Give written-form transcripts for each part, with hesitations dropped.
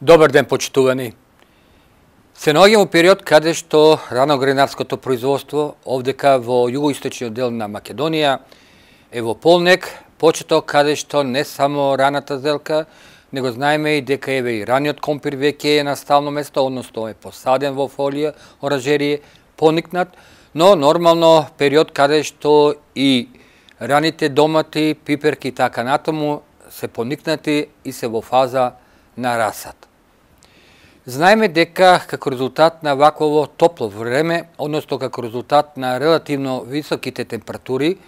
Добар ден, почитувани. Се наоѓаме во период каде што раногренарското производство овдека во југоисточниот дел на Македонија е во полнек, почеток каде што не само раната зелка, него знаеме и дека еве и раниот компир веќе е на стално место, односно е посаден во фолија, оранжерие, поникнат, но нормално период каде што и раните домати, пиперки и така натаму се поникнати и се во фаза на расад. Знаеме дека како резултат на вакво топло време, односно како резултат на релативно високите температури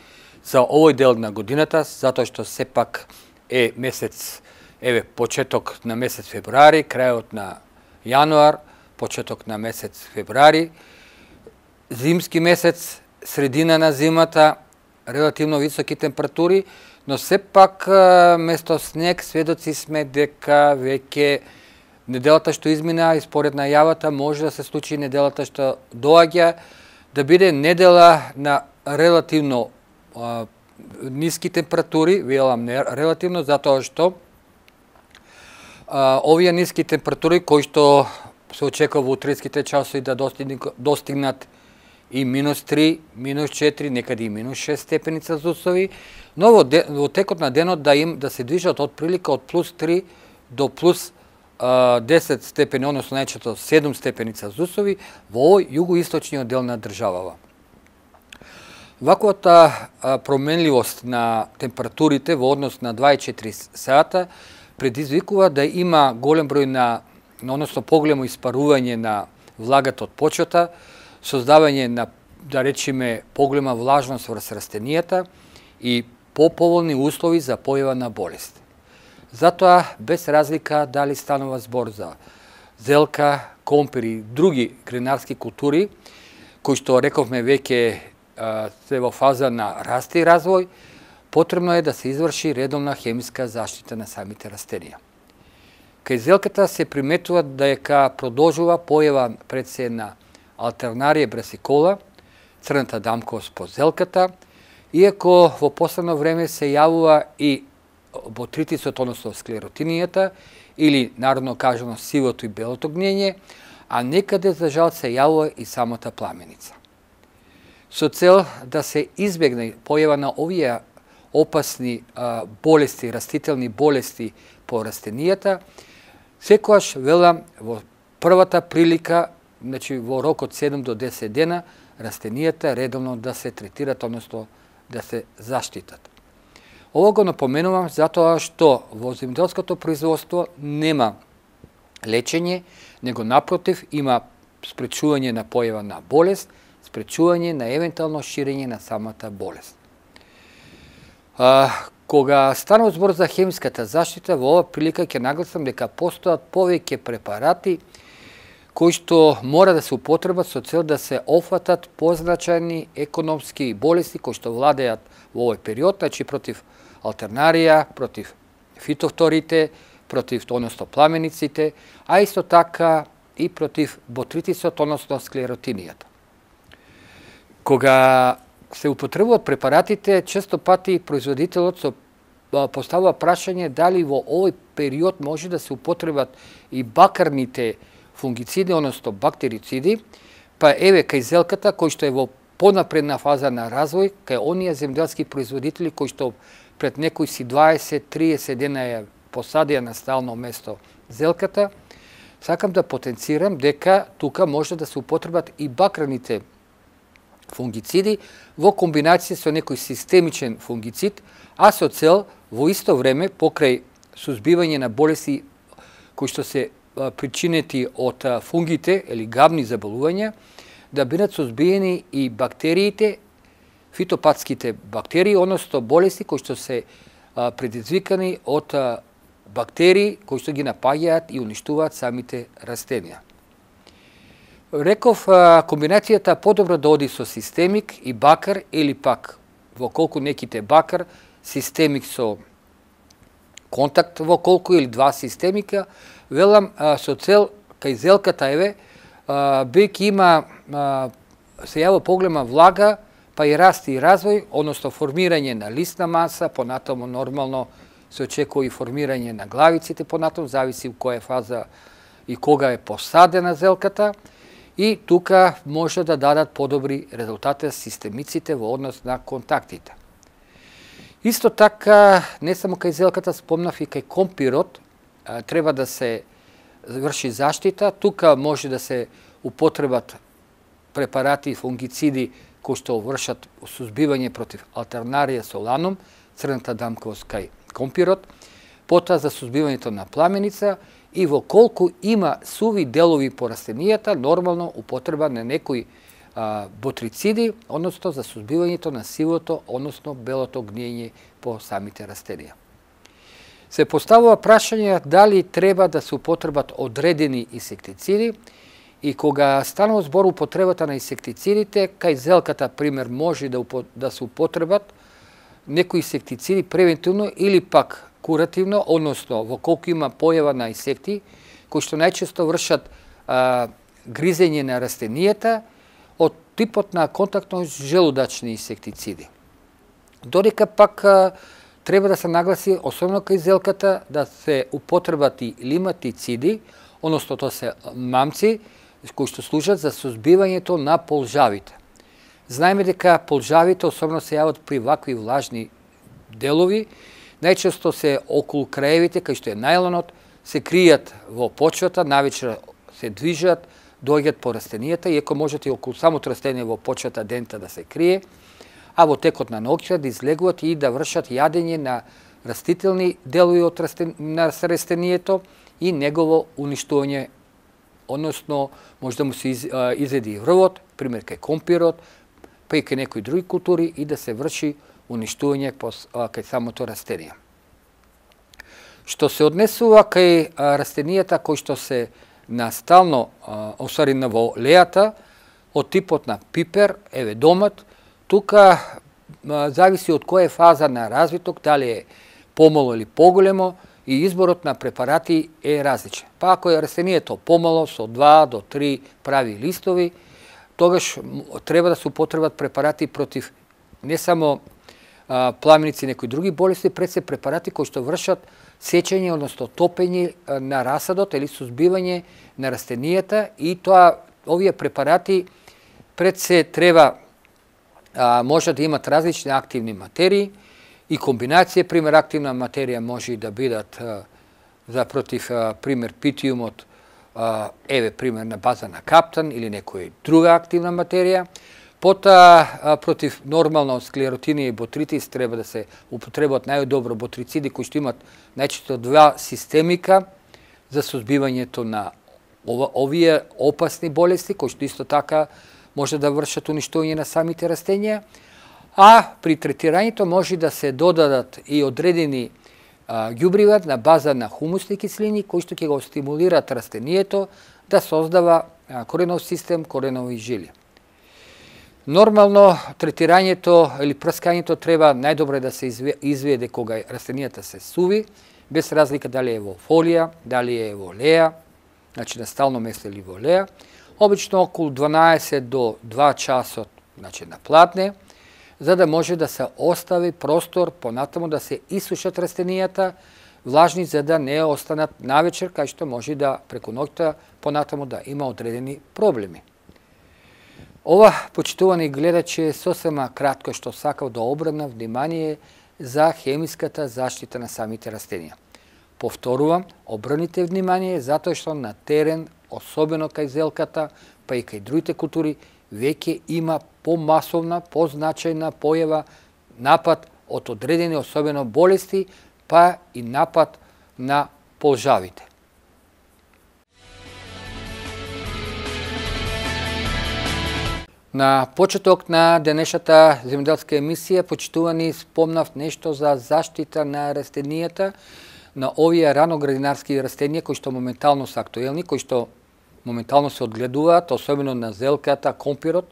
за овој дел на годината, затоа што сепак е месец, еве почеток на месец февруари, крајот на јануар, почеток на месец февруари, зимски месец, средина на зимата, релативно високи температури, но сепак место снег сведоци сме дека веќе неделата што измина и според најавата може да се случи неделата што доаѓа да биде недела на релативно ниски температури, велам релативно затоа што овие ниски температури кои што се очекува во утринските часови да достигнат и -3, -4, некаде и -6 степени Целзиусови, но во текот на денот да се движат од прилика од +3 до +10 степени, односно најчесто 7 степени Целзиусови во овој југоисточниот дел на државава. Ваквата променливост на температурите во однос на 24 сата предизвикува да има голем број односно поголемо испарување на влагата од почвата, создавање на, да речеме, поголема влажност врз растенијата и поповолни услови за појава на болести. Затоа, без разлика дали станува збор за зелка, компир и други гренарски култури, кои што рековме веќе се во фаза на раст и развој, потребно е да се изврши редовна хемиска заштита на самите растенија. Кај зелката се приметува дека продолжува појава пред се на Алтернарија брасикола, црната дамковост по зелката, иако во последно време се јавува и ботритисот, односно склеротинијата, или народно кажано сивото и белото гниење, а некаде за жал се јавува и самата пламеница. Со цел да се избегне појава на овие опасни болести, растителни болести по растенијата, секогаш велам во првата прилика, значи во рок од 7 до 10 дена, растенијата редовно да се третират, односно да се заштитат. Ово го напоменувам затоа што во земјоделското производство нема лечење, него напротив има спречување на појава на болест, спречување на евентуално ширење на самата болест. Кога станува збор за хемиската заштита, во ова прилика ќе нагласам дека постојат повеќе препарати кои што мора да се употребат со цел да се офатат позначајни економски болести кои што владеат во овој период, значи против алтернарија, против фитофторите, против, односно пламениците, а исто така и против ботритисот, односно склеротинијата. Кога се употребуваат препаратите, често пати производителот поставува прашање дали во овој период може да се употребат и бакарните фунгициди, односно бактерициди, па еве кај зелката, кој што е во понапредна фаза на развој, кај оние земјоделски производители кои што пред некои си 20-30 дена ја посадија на стално место зелката, сакам да потенцирам дека тука може да се употребат и бакарните фунгициди во комбинација со некој системичен фунгицид, а со цел во исто време покрај сузбивање на болести кои што се причинети од фунгите или габни заболувања, да бидат сузбиени и бактериите, фитопатските бактерии, односно болести кои што се предизвикани од бактерии кои што ги напаѓаат и уништуваат самите растенија. Реков, комбинацијата подобро да оди со системик и бакар или пак во колку неките бакар, системик со контакт во колку или два системика, велам со цел кај зелката еве, бејќи има се јава поголема влага, па и раст и развој, односно формирање на лисна маса, понатаму нормално се очекува и формирање на главиците, понатаму зависи во која фаза и кога е посадена зелката, и тука може да дадат подобри резултати системиците во однос на контактите. Исто така, не само кај зелката, спомнав и кај компирот, треба да се врши заштита. Тука може да се употребат препарати и фунгициди кои што вршат сузбивање против алтернарија соланум, црната дамковост кај компирот, потоа за сузбивањето на пламеница и во колку има суви делови по растенијата, нормално употреба на некои ботрициди, односно за сузбивањето на сивото, односно белото гниење по самите растенија. Се поставува прашање дали треба да се употребат одредени инсектициди, и кога станува збор употребата на инсектицидите, кај зелката, пример, може да се употребат некои инсектициди превентивно или пак куративно, односно во колку има појава на инсекти, кои што најчесто вршат гризење на растенијата од типот на контактно желудачни инсектициди. Додека пак треба да се нагласи, особено кај зелката, да се употребат и лиматициди, односно тоа се мамци, кои што служат за сузбивањето на полжавите. Знаеме дека полжавите особено се јават при вакви влажни делови, најчесто се околу краевите, кај што е најлонот, се кријат во почвата, навечер се движат, доаѓаат по растенијата, иако можете и околу самото растение во почвата дента да се крие, а во текот на ноќта да излегуват и да вршат јадење на растителни делови од на растенијето и негово уништување, односно може да му се изеди и врвот, пример кај компирот, па и кај некои други култури, и да се врши уништување кај самото растение. Што се однесува кај растенијата кои што се настално, осварена во лејата, од типот на пипер, еве домат, тука зависи од која фаза на развиток, дали е помало или поголемо, и изборот на препарати е различен. Па ако е растението помало, со 2 до 3 прави листови, тогаш треба да се употребат препарати против не само пламеници и некои други болести, пред се препарати кои што вршат сечење, односно топење на расадот или сузбивање на растенијата, и тоа овие препарати пред се треба може да имат различни активни материи и комбинација, пример активна материја може и да бидат за против пример питиумот, еве пример на база на каптан или некоја друга активна материја. Потоа против нормално склеротини и ботритис треба да се употребат најдобро ботрициди кои што имат најчесто 2 системика за сузбивањето на овие опасни болести, кои што исто така може да вршат уништување на самите растенија, а при третирањето може да се додадат и одредени ѓубрива на база на хумусни киселини кои што ќе го стимулираат растението да создава коренов систем, коренови жили. Нормално третирањето или прскањето треба најдобро да се изведе кога растенијата се суви, без разлика дали е во фолија, дали е во леја, значи на стално место или во леја, обично околу 12 до 2 часот, значи на платне, за да може да се остави простор понатаму да се исушат растенијата, влажни за да не останат навечер, кај што може да преку ноќта понатаму да има одредени проблеми. Ова, почитувани гледачи, сосема кратко што сакав да обрнам внимание за хемиската заштита на самите растенија. Повторувам, обрнете внимание затоа што на терен, особено кај зелката, па и кај другите култури, веќе има помасовна, позначајна појава напад од одредени особено болести, па и напад на полжавите. На почеток на денешната земјоделска емисија, почитувани, спомнав нешто за заштита на растенијата, на овие раноградинарски растенија кои што моментално се актуелни, кои што моментално се одгледуваат, особено на зелката, компирот,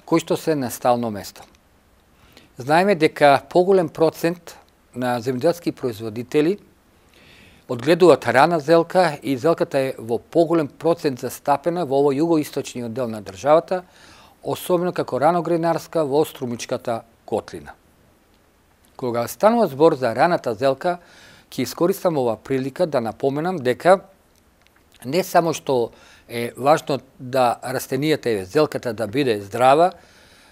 кои што се на стално место. Знаеме дека поголем процент на земјоделски производители одгледуваат рана зелка и зелката е во поголем процент застапена во овој југоисточниот дел на државата, особено како раногренарска во Струмичката котлина. Кога станува збор за раната зелка, ќе искористам ова прилика да напоменам дека не само што е важно да растенијата, зелката да биде здрава,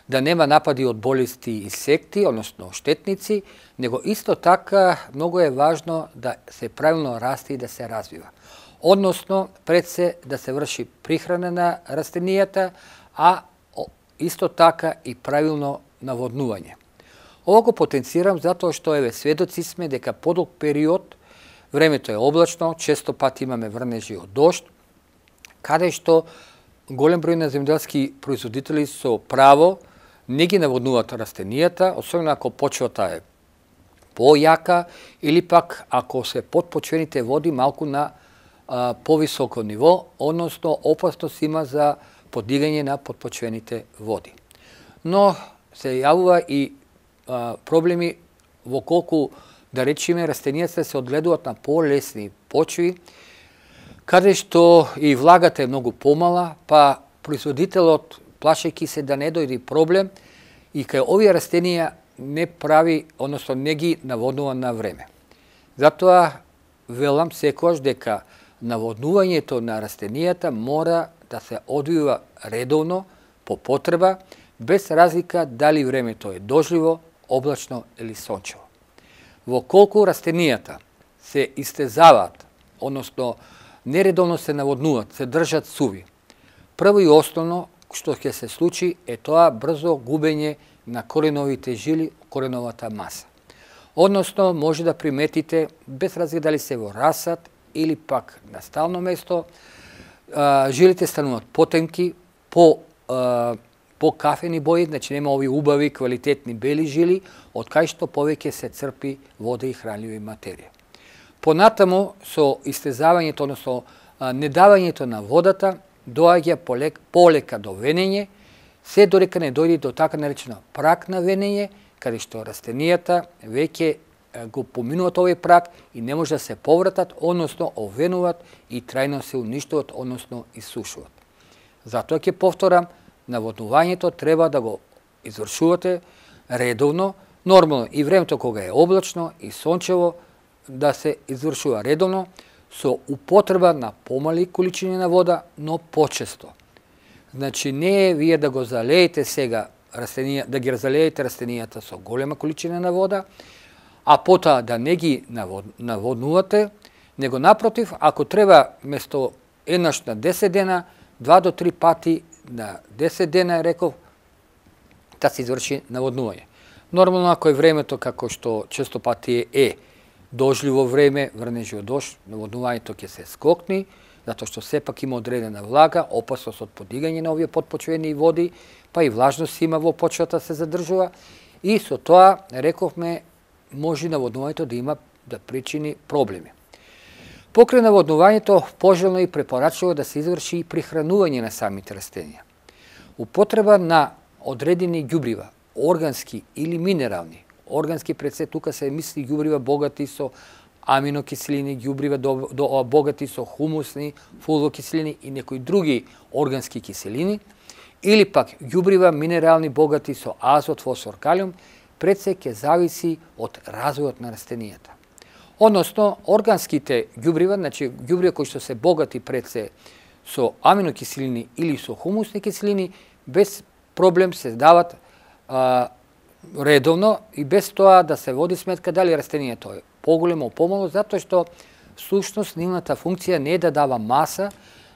да нема напади од болести и инсекти, односно штетници, него исто така многу е важно да се правилно расте и да се развива. Односно, пред се да се врши прихрана на растенијата, а исто така и правилно наводнување. Ова го потенцирам затоа што сведоци сме дека подолг период времето е облачно, често пати имаме врнежи од дожд, каде што голем број на земјоделски производители со право не ги наводнуваат растенијата, особено ако почвата е појака или пак ако се подпочвените води малку на повисоко ниво, односно опасност има за подигање на подпочвените води. Но се јавува и проблеми во колку, да речеме, растенијата се одгледуваат на полесни почви, каде што и влагата е многу помала, па производителот, плашејќи се да не дојде проблем, и кај овие растенија не прави, односно не ги наводнува на време. Затоа велам секогаш дека наводнувањето на растенијата мора да се одвива редовно, по потреба, без разлика дали времето е дожливо, облачно или сончево. Во колку растенијата се истезаваат, односно нередовно се наводнуваат, се држат суви, прво и основно што ќе се случи е тоа брзо губење на кореновите жили, кореновата маса. Односно, може да приметите, без разлика дали се во расад или пак на стално место, жилите стануваат потемки, по кафени бои, значи нема овие убави, квалитетни бели жили, од кај што повеќе се црпи вода и хранливи материја. Понатаму, со истезавањето, односно недавањето на водата, доаѓа полека до венење, се додека не дојде до така наречено прак на венење, каде што растенијата веќе го поминуваат овој прак и не може да се повратат, односно овенуваат и трајно се уништуваат, односно исушуваат. Затоа ќе повторам, наводнувањето треба да го извршувате редовно, нормално и времето кога е облачно и сончево да се извршува редовно, со употреба на помали количини на вода, но почесто. Значи не е вие да го залеете сега да ги залеете растенијата со голема количина на вода, а потоа да не ги наводнувате, него напротив, ако треба место еднаш на 10 дена, 2 до 3 пати на 10 дена, реков, да се изврши наводнување. Нормално, ако е времето како што често пати е дожливо време, врнежи од дожд, наводнувањето ќе се скокни, затоа што сепак има одредена влага, опасност од подигање на овие подпочвени води, па и влажност има во почвата се задржува, и со тоа, рековме, може наводнувањето да причини проблеми. Покрај наводнувањето, пожелно и препорачливо да се изврши и прихранување на самите растенија. Употреба на одредени ѓубрива, органски или минерални, органски пред се тука се мисли ѓубрива богати со аминокиселини, ѓубрива богати со хумусни, фулвокиселини и некои други органски киселини, или пак ѓубрива минерални богати со азот, фосфор, калиум, пред се ќе зависи од развојот на растенијата. Односно, органските ѓубрива, значи ѓубрива кои што се богати пред се со аминокиселини или со хумусни киселини, без проблем се дават редовно и без тоа да се води сметка дали растенијето е поголемо, помало, затоа што всушност нивната функција не е да дава маса,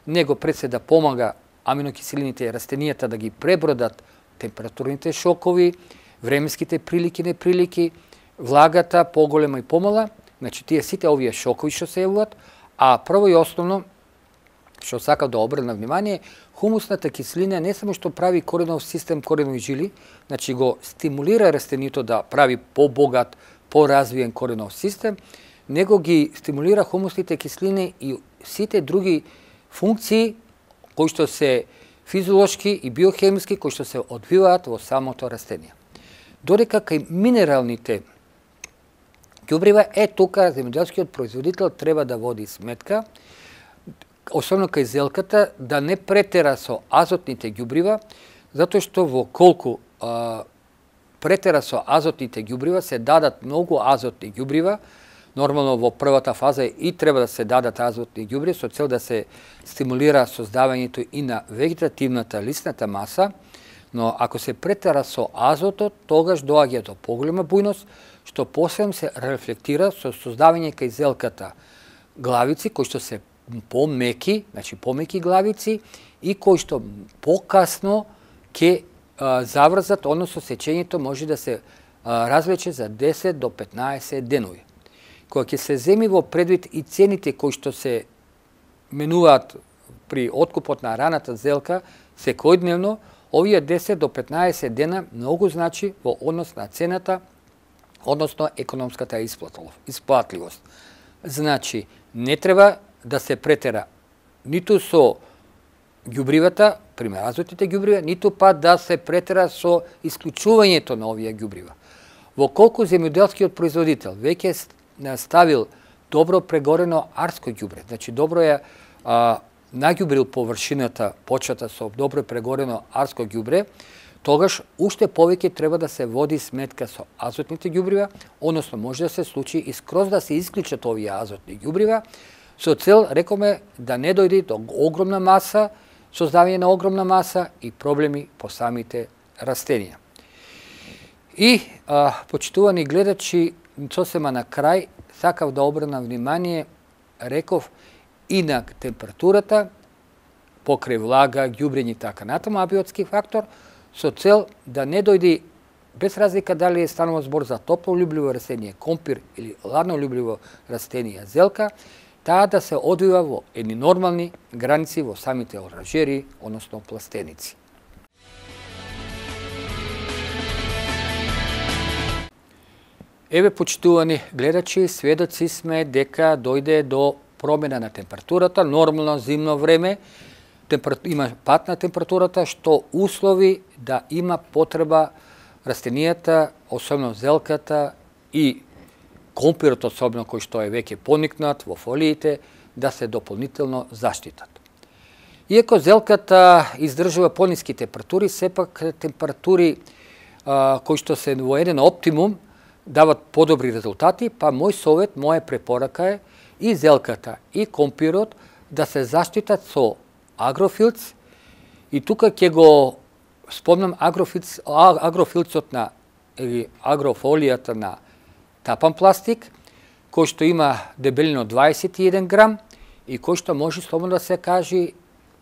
него пред се да помага аминокиселините растенијата да ги пребродат температурните шокови, временските прилики, неприлики, влагата поголема и помала, значи тие сите овие шокови што се јавуваат, а прво и основно што сакам да обрнам внимание, хумусната киселина не само што прави коренов систем, коренови жили, значи го стимулира растението да прави побогат, поразвиен коренов систем, него ги стимулира хумусните киселини и сите други функции кои што се физиолошки и биохемиски, кои што се одвиваат во самото растение. Додека кај минералните ѓубрива, тука земјоделскиот производител треба да води сметка, особено кај зелката, да не претера со азотните ѓубрива, затоа што во колку претера со азотните ѓубрива, се дадат многу азотни ѓубрива. Нормално во првата фаза и треба да се дадат азотни ѓубри со цел да се стимулира создавањето и на вегетативната лисната маса, но ако се претера со азотот, тогаш доаѓа до поголема бујност, што посебно се рефлектира со создавање кај зелката главици кои што се помеки, значи помеки главици и кои што покасно ќе заврзат, односно сечењето може да се развлече за 10 до 15 денови. Кога ќе се земи во предвид и цените кои што се менуваат при откупот на раната зелка секојдневно, овие 10 до 15 дена многу значи во однос на цената, односно економската исплатливост. Значи, не треба да се претера ниту со ѓубривата, пример азотните ѓубрива, ниту па да се претера со исклучувањето на овие ѓубрива. Во колку земјоделскиот производител веќе ставил добро прегорено арско ѓубре, значи добро е наѓубрил површината, почвата со добро прегорено арско ѓубре, тогаш уште повеќе треба да се води сметка со азотните ѓубрива, односно може да се случи и скроз да се исклучат овие азотни ѓубрива, со цел, рекоме, да не дојде до огромна маса, создавање на огромна маса и проблеми по самите растенија. И, почитувани гледачи, сосема на крај, сакав да обрнам внимание, реков, и на температурата, покрај влага, ѓубрење и така натаму, абиотски фактор, со цел да не дојде, без разлика дали станува збор за топлолюбливо растение, компир или ладнолюбливо растение, зелка, таа да се одвива во едни нормални граници во самите оранжери, односно пластеници. Еве, почитувани гледачи, сведоци сме дека дојде до промена на температурата, нормално зимно време, има пат на температурата, што услови да има потреба растенијата, особено зелката и компирот, особено кој што е веќе поникнат во фолиите, да се дополнително заштитат. Иако зелката издржува пониски температури, сепак температури кои што се во еден оптимум дават подобри резултати, па мој совет, моја препорака е и зелката и компирот да се заштитат со агрофилц, и тука ќе го спомнам агрофилцот на или агрофолијата на тапан пластик, кој што има дебелина од 21 грам и кој што може слободно да се каже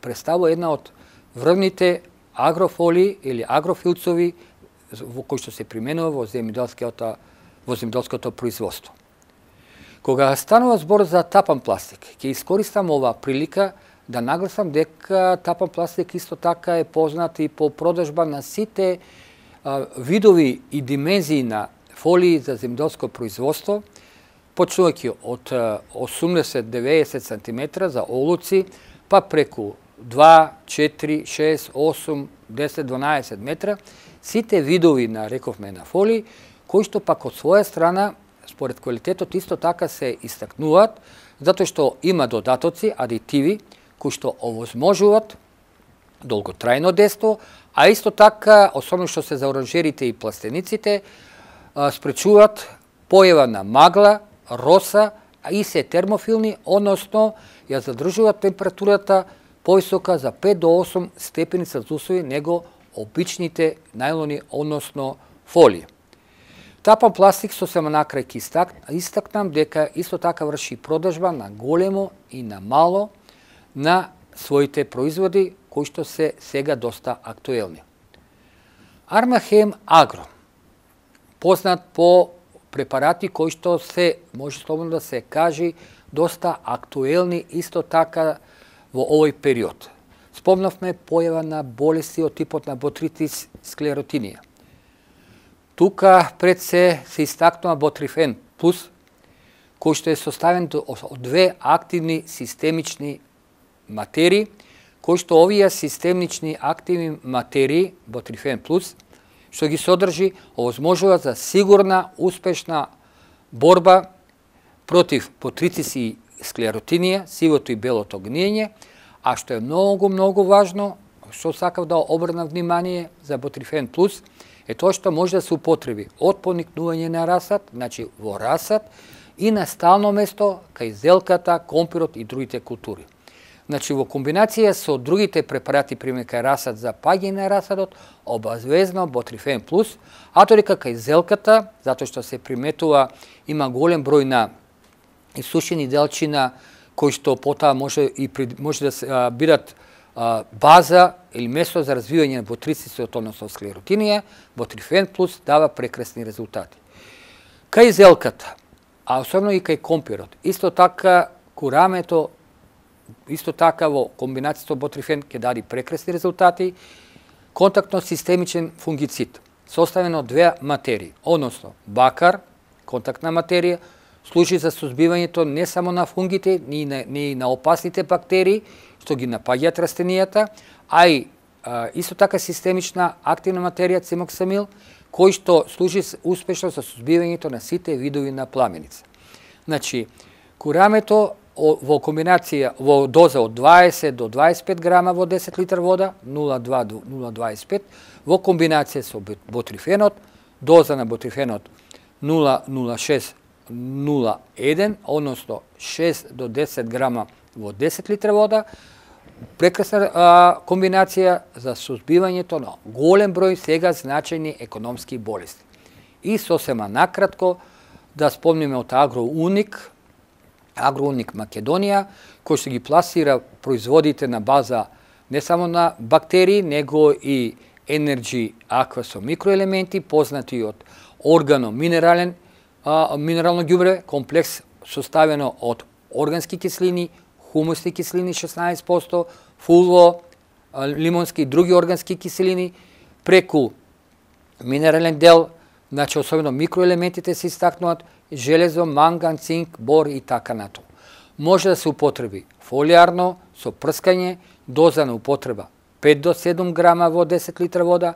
представува една од врвните агрофолии или агрофилцови во кои што се применува во земјоделското производство. Кога станува збор за тапан пластик, ќе искористам оваа прилика да нагласам дека тапан пластик исто така е познат и по продажба на сите видови и димензии на фолии за земјоделско производство, почнувајќи од 80-90 см за олуци, па преку 2, 4, 6, 8, 10, 12 метра, сите видови на, рековме, на фолии, кои што пак од своја страна, според квалитетот, исто така се истакнуваат, затоа што има додатоци, адитиви, кои што овозможуваат долготрајно дејство, а исто така, особено што се за оранжерите и пластениците, спречуваат појава на магла, роса, а и се термофилни, односно ја задржуваат температурата повисока за 5 до 8 степени Целзиусови него обичните најлони, односно фолии. Тапан пластик сосема накрај ќе истакнам дека исто така врши продажба на големо и на мало на своите производи кои што се сега доста актуелни. Армахем Агро, познат по препарати кои што се, може слободно да се каже, доста актуелни исто така во овој период. Спомнавме појава на болести од типот на ботритис склеротинија. Тука пред се истакнува ботрифен плюс, кој што е составен од две активни системични материи, кои што овие системнични активни материи, Ботрифен плюс, што ги содржи, овозможува за сигурна, успешна борба против потрицис и склеротинија, сивото и белото гниење, а што е многу важно, што сакав да обрнам внимание за Ботрифен плюс, е тоа што може да се употреби од поникнување на расад, значи во расад, и на стално место кај зелката, компирот и другите култури. Значи, во комбинација со другите препарати, пример кај расад за паѓање на расадот, обавезно Ботрифен плюс, а додека кај зелката, затоа што се приметува, има голем број на исушени делчина, кои што потоа може да се бидат база или место за развивање на ботрицисот, односно склеротинија, Ботрифен плюс дава прекрасни резултати. Кај зелката, а особено и кај компирот, исто така курамето, исто така во комбинацијата Ботрифен ќе даде прекрасни резултати. Контактно-системичен фунгицид, составен од две материи, односно бакар, контактна материја, служи за сузбивањето не само на фунгите, ни и на опасните бактерии, што ги напаѓаат растенијата, а и исто така системична активна материја цимоксамил, кој што служи успешно за сузбивањето на сите видови на пламеница. Значи, курамето во комбинација, во доза од 20 до 25 грама во 10 литар вода, 0,2 до 0,25, во комбинација со Ботрифенот, доза на Ботрифенот 0,06-0,1, односно 6 до 10 грама во 10 литра вода, прекрасна комбинација за сузбивањето на голем број сега значајни економски болести. И сосема накратко да спомниме од Агроуник Македонија, кој што ги пласира производите на база не само на бактерии, него и Energy Aqua со микроелементи, познати од минерално ѓубре, комплекс составено од органски киселини, хумусни киселини 16%, фулво, лимонски и други органски киселини, преку минерален дел, значи особено микроелементите се истакнуваат, железо, манган, цинк, бор и така нато. Може да се употреби фолиарно, со прскање, доза на употреба 5 до 7 грама во 10 литра вода,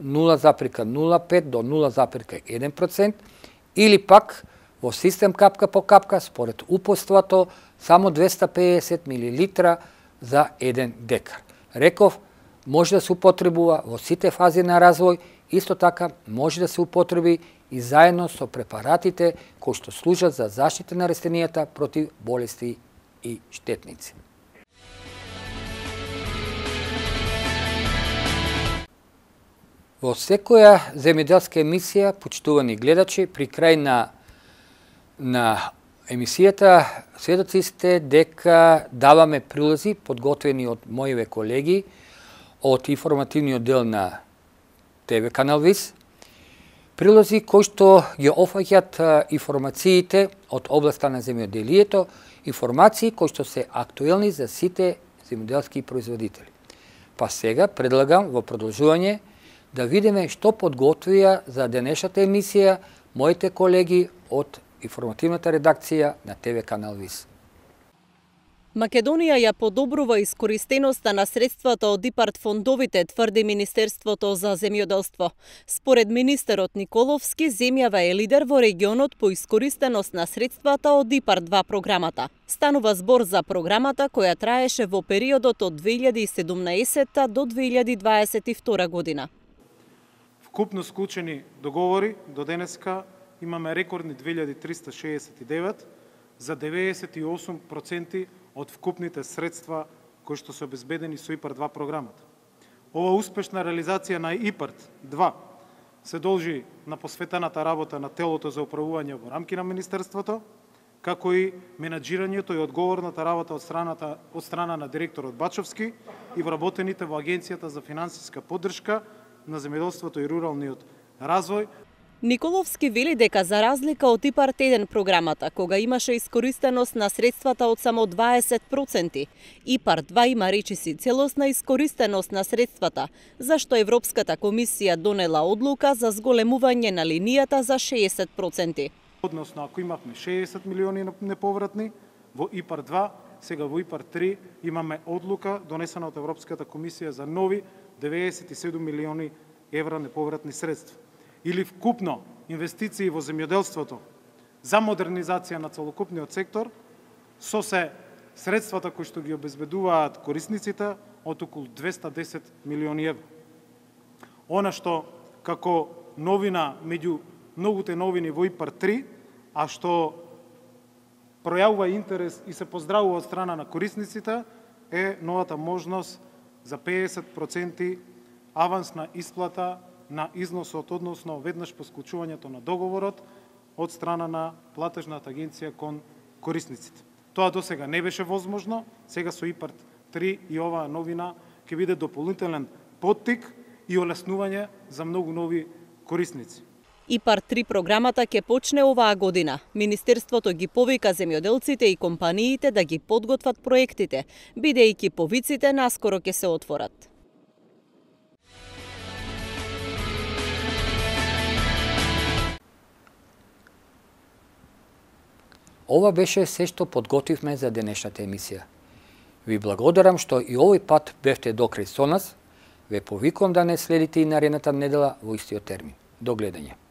0,05 до 0,1%, или пак во систем капка по капка, според упоството, само 250 мл за 1 декар. Реков, може да се употребува во сите фази на развој, исто така може да се употреби и заедно со препаратите кои што служат за заштита на растенијата против болести и штетници. Во секоја земјоделска емисија, почитувани гледачи, при крај на емисијата сведоци сте дека даваме прилози подготвени од моите колеги од информативниот дел на ТВ канал ВИС, прилози кои што ги офаќаат информациите од областа на земјоделието, информации кои што се актуелни за сите земјоделски производители. Па сега предлагам во продолжување да видиме што подготвија за денешната емисија моите колеги од информативната редакција на ТВ канал ВИС. Македонија ја подобрува искористеноста на средствата од ИПАРД фондовите, тврди Министерството за земјоделство. Според министерот Николовски, земјава е лидер во регионот по искористеност на средствата од ИПАРД 2 програмата. Станува збор за програмата која траеше во периодот од 2017 до 2022 година. Вкупно склучени договори до денеска имаме рекордни 2369 за 98% од вкупните средства кои што се обезбедени со ИПАРД 2 програмата. Ова успешна реализација на ИПАРД 2 се должи на посветената работа на телото за управување во рамки на Министерството, како и менаџирањето и одговорната работа од страна на директорот Бачовски и вработените во Агенцијата за финансиска поддршка на земјоделството и руралниот развој. Николовски вели дека за разлика од ИПАРД 1 програмата, кога имаше искористеност на средствата од само 20%, ИПАРД 2 има речиси целосна искористеност на средствата, зашто Европската комисија донела одлука за зголемување на линијата за 60%. Односно, ако имавме 60 милиони неповратни, во ИПАРД 2 сега во ИПАР 3 имаме одлука донесена од Европската комисија за нови 97 милиони евра неповратни средства. Или вкупно инвестиции во земјоделството за модернизација на целокупниот сектор со се средствата кои што ги обезбедуваат корисниците од околу 210 милиони евра. Она што како новина меѓу многуте новини во ИПАР 3, а што пројавува интерес и се поздравува од страна на корисниците, е новата можност за 50% авансна исплата на износот, односно веднаш по склучувањето на договорот од страна на платежната агенција кон корисниците. Тоа досега не беше возможно, сега со ИПАР 3 и оваа новина ќе биде дополнителен поттик и олеснување за многу нови корисници. ИПАР 3 програмата ќе почне оваа година. Министерството ги повика земјоделците и компаниите да ги подготват проектите, бидејќи повиците наскоро ќе се отворат. Ова беше се што подготвивме за денешната емисија. Ви благодарам што и овој пат бевте докрај со нас. Ве повикувам да не следите и наредната недела во истиот термин. До гледање.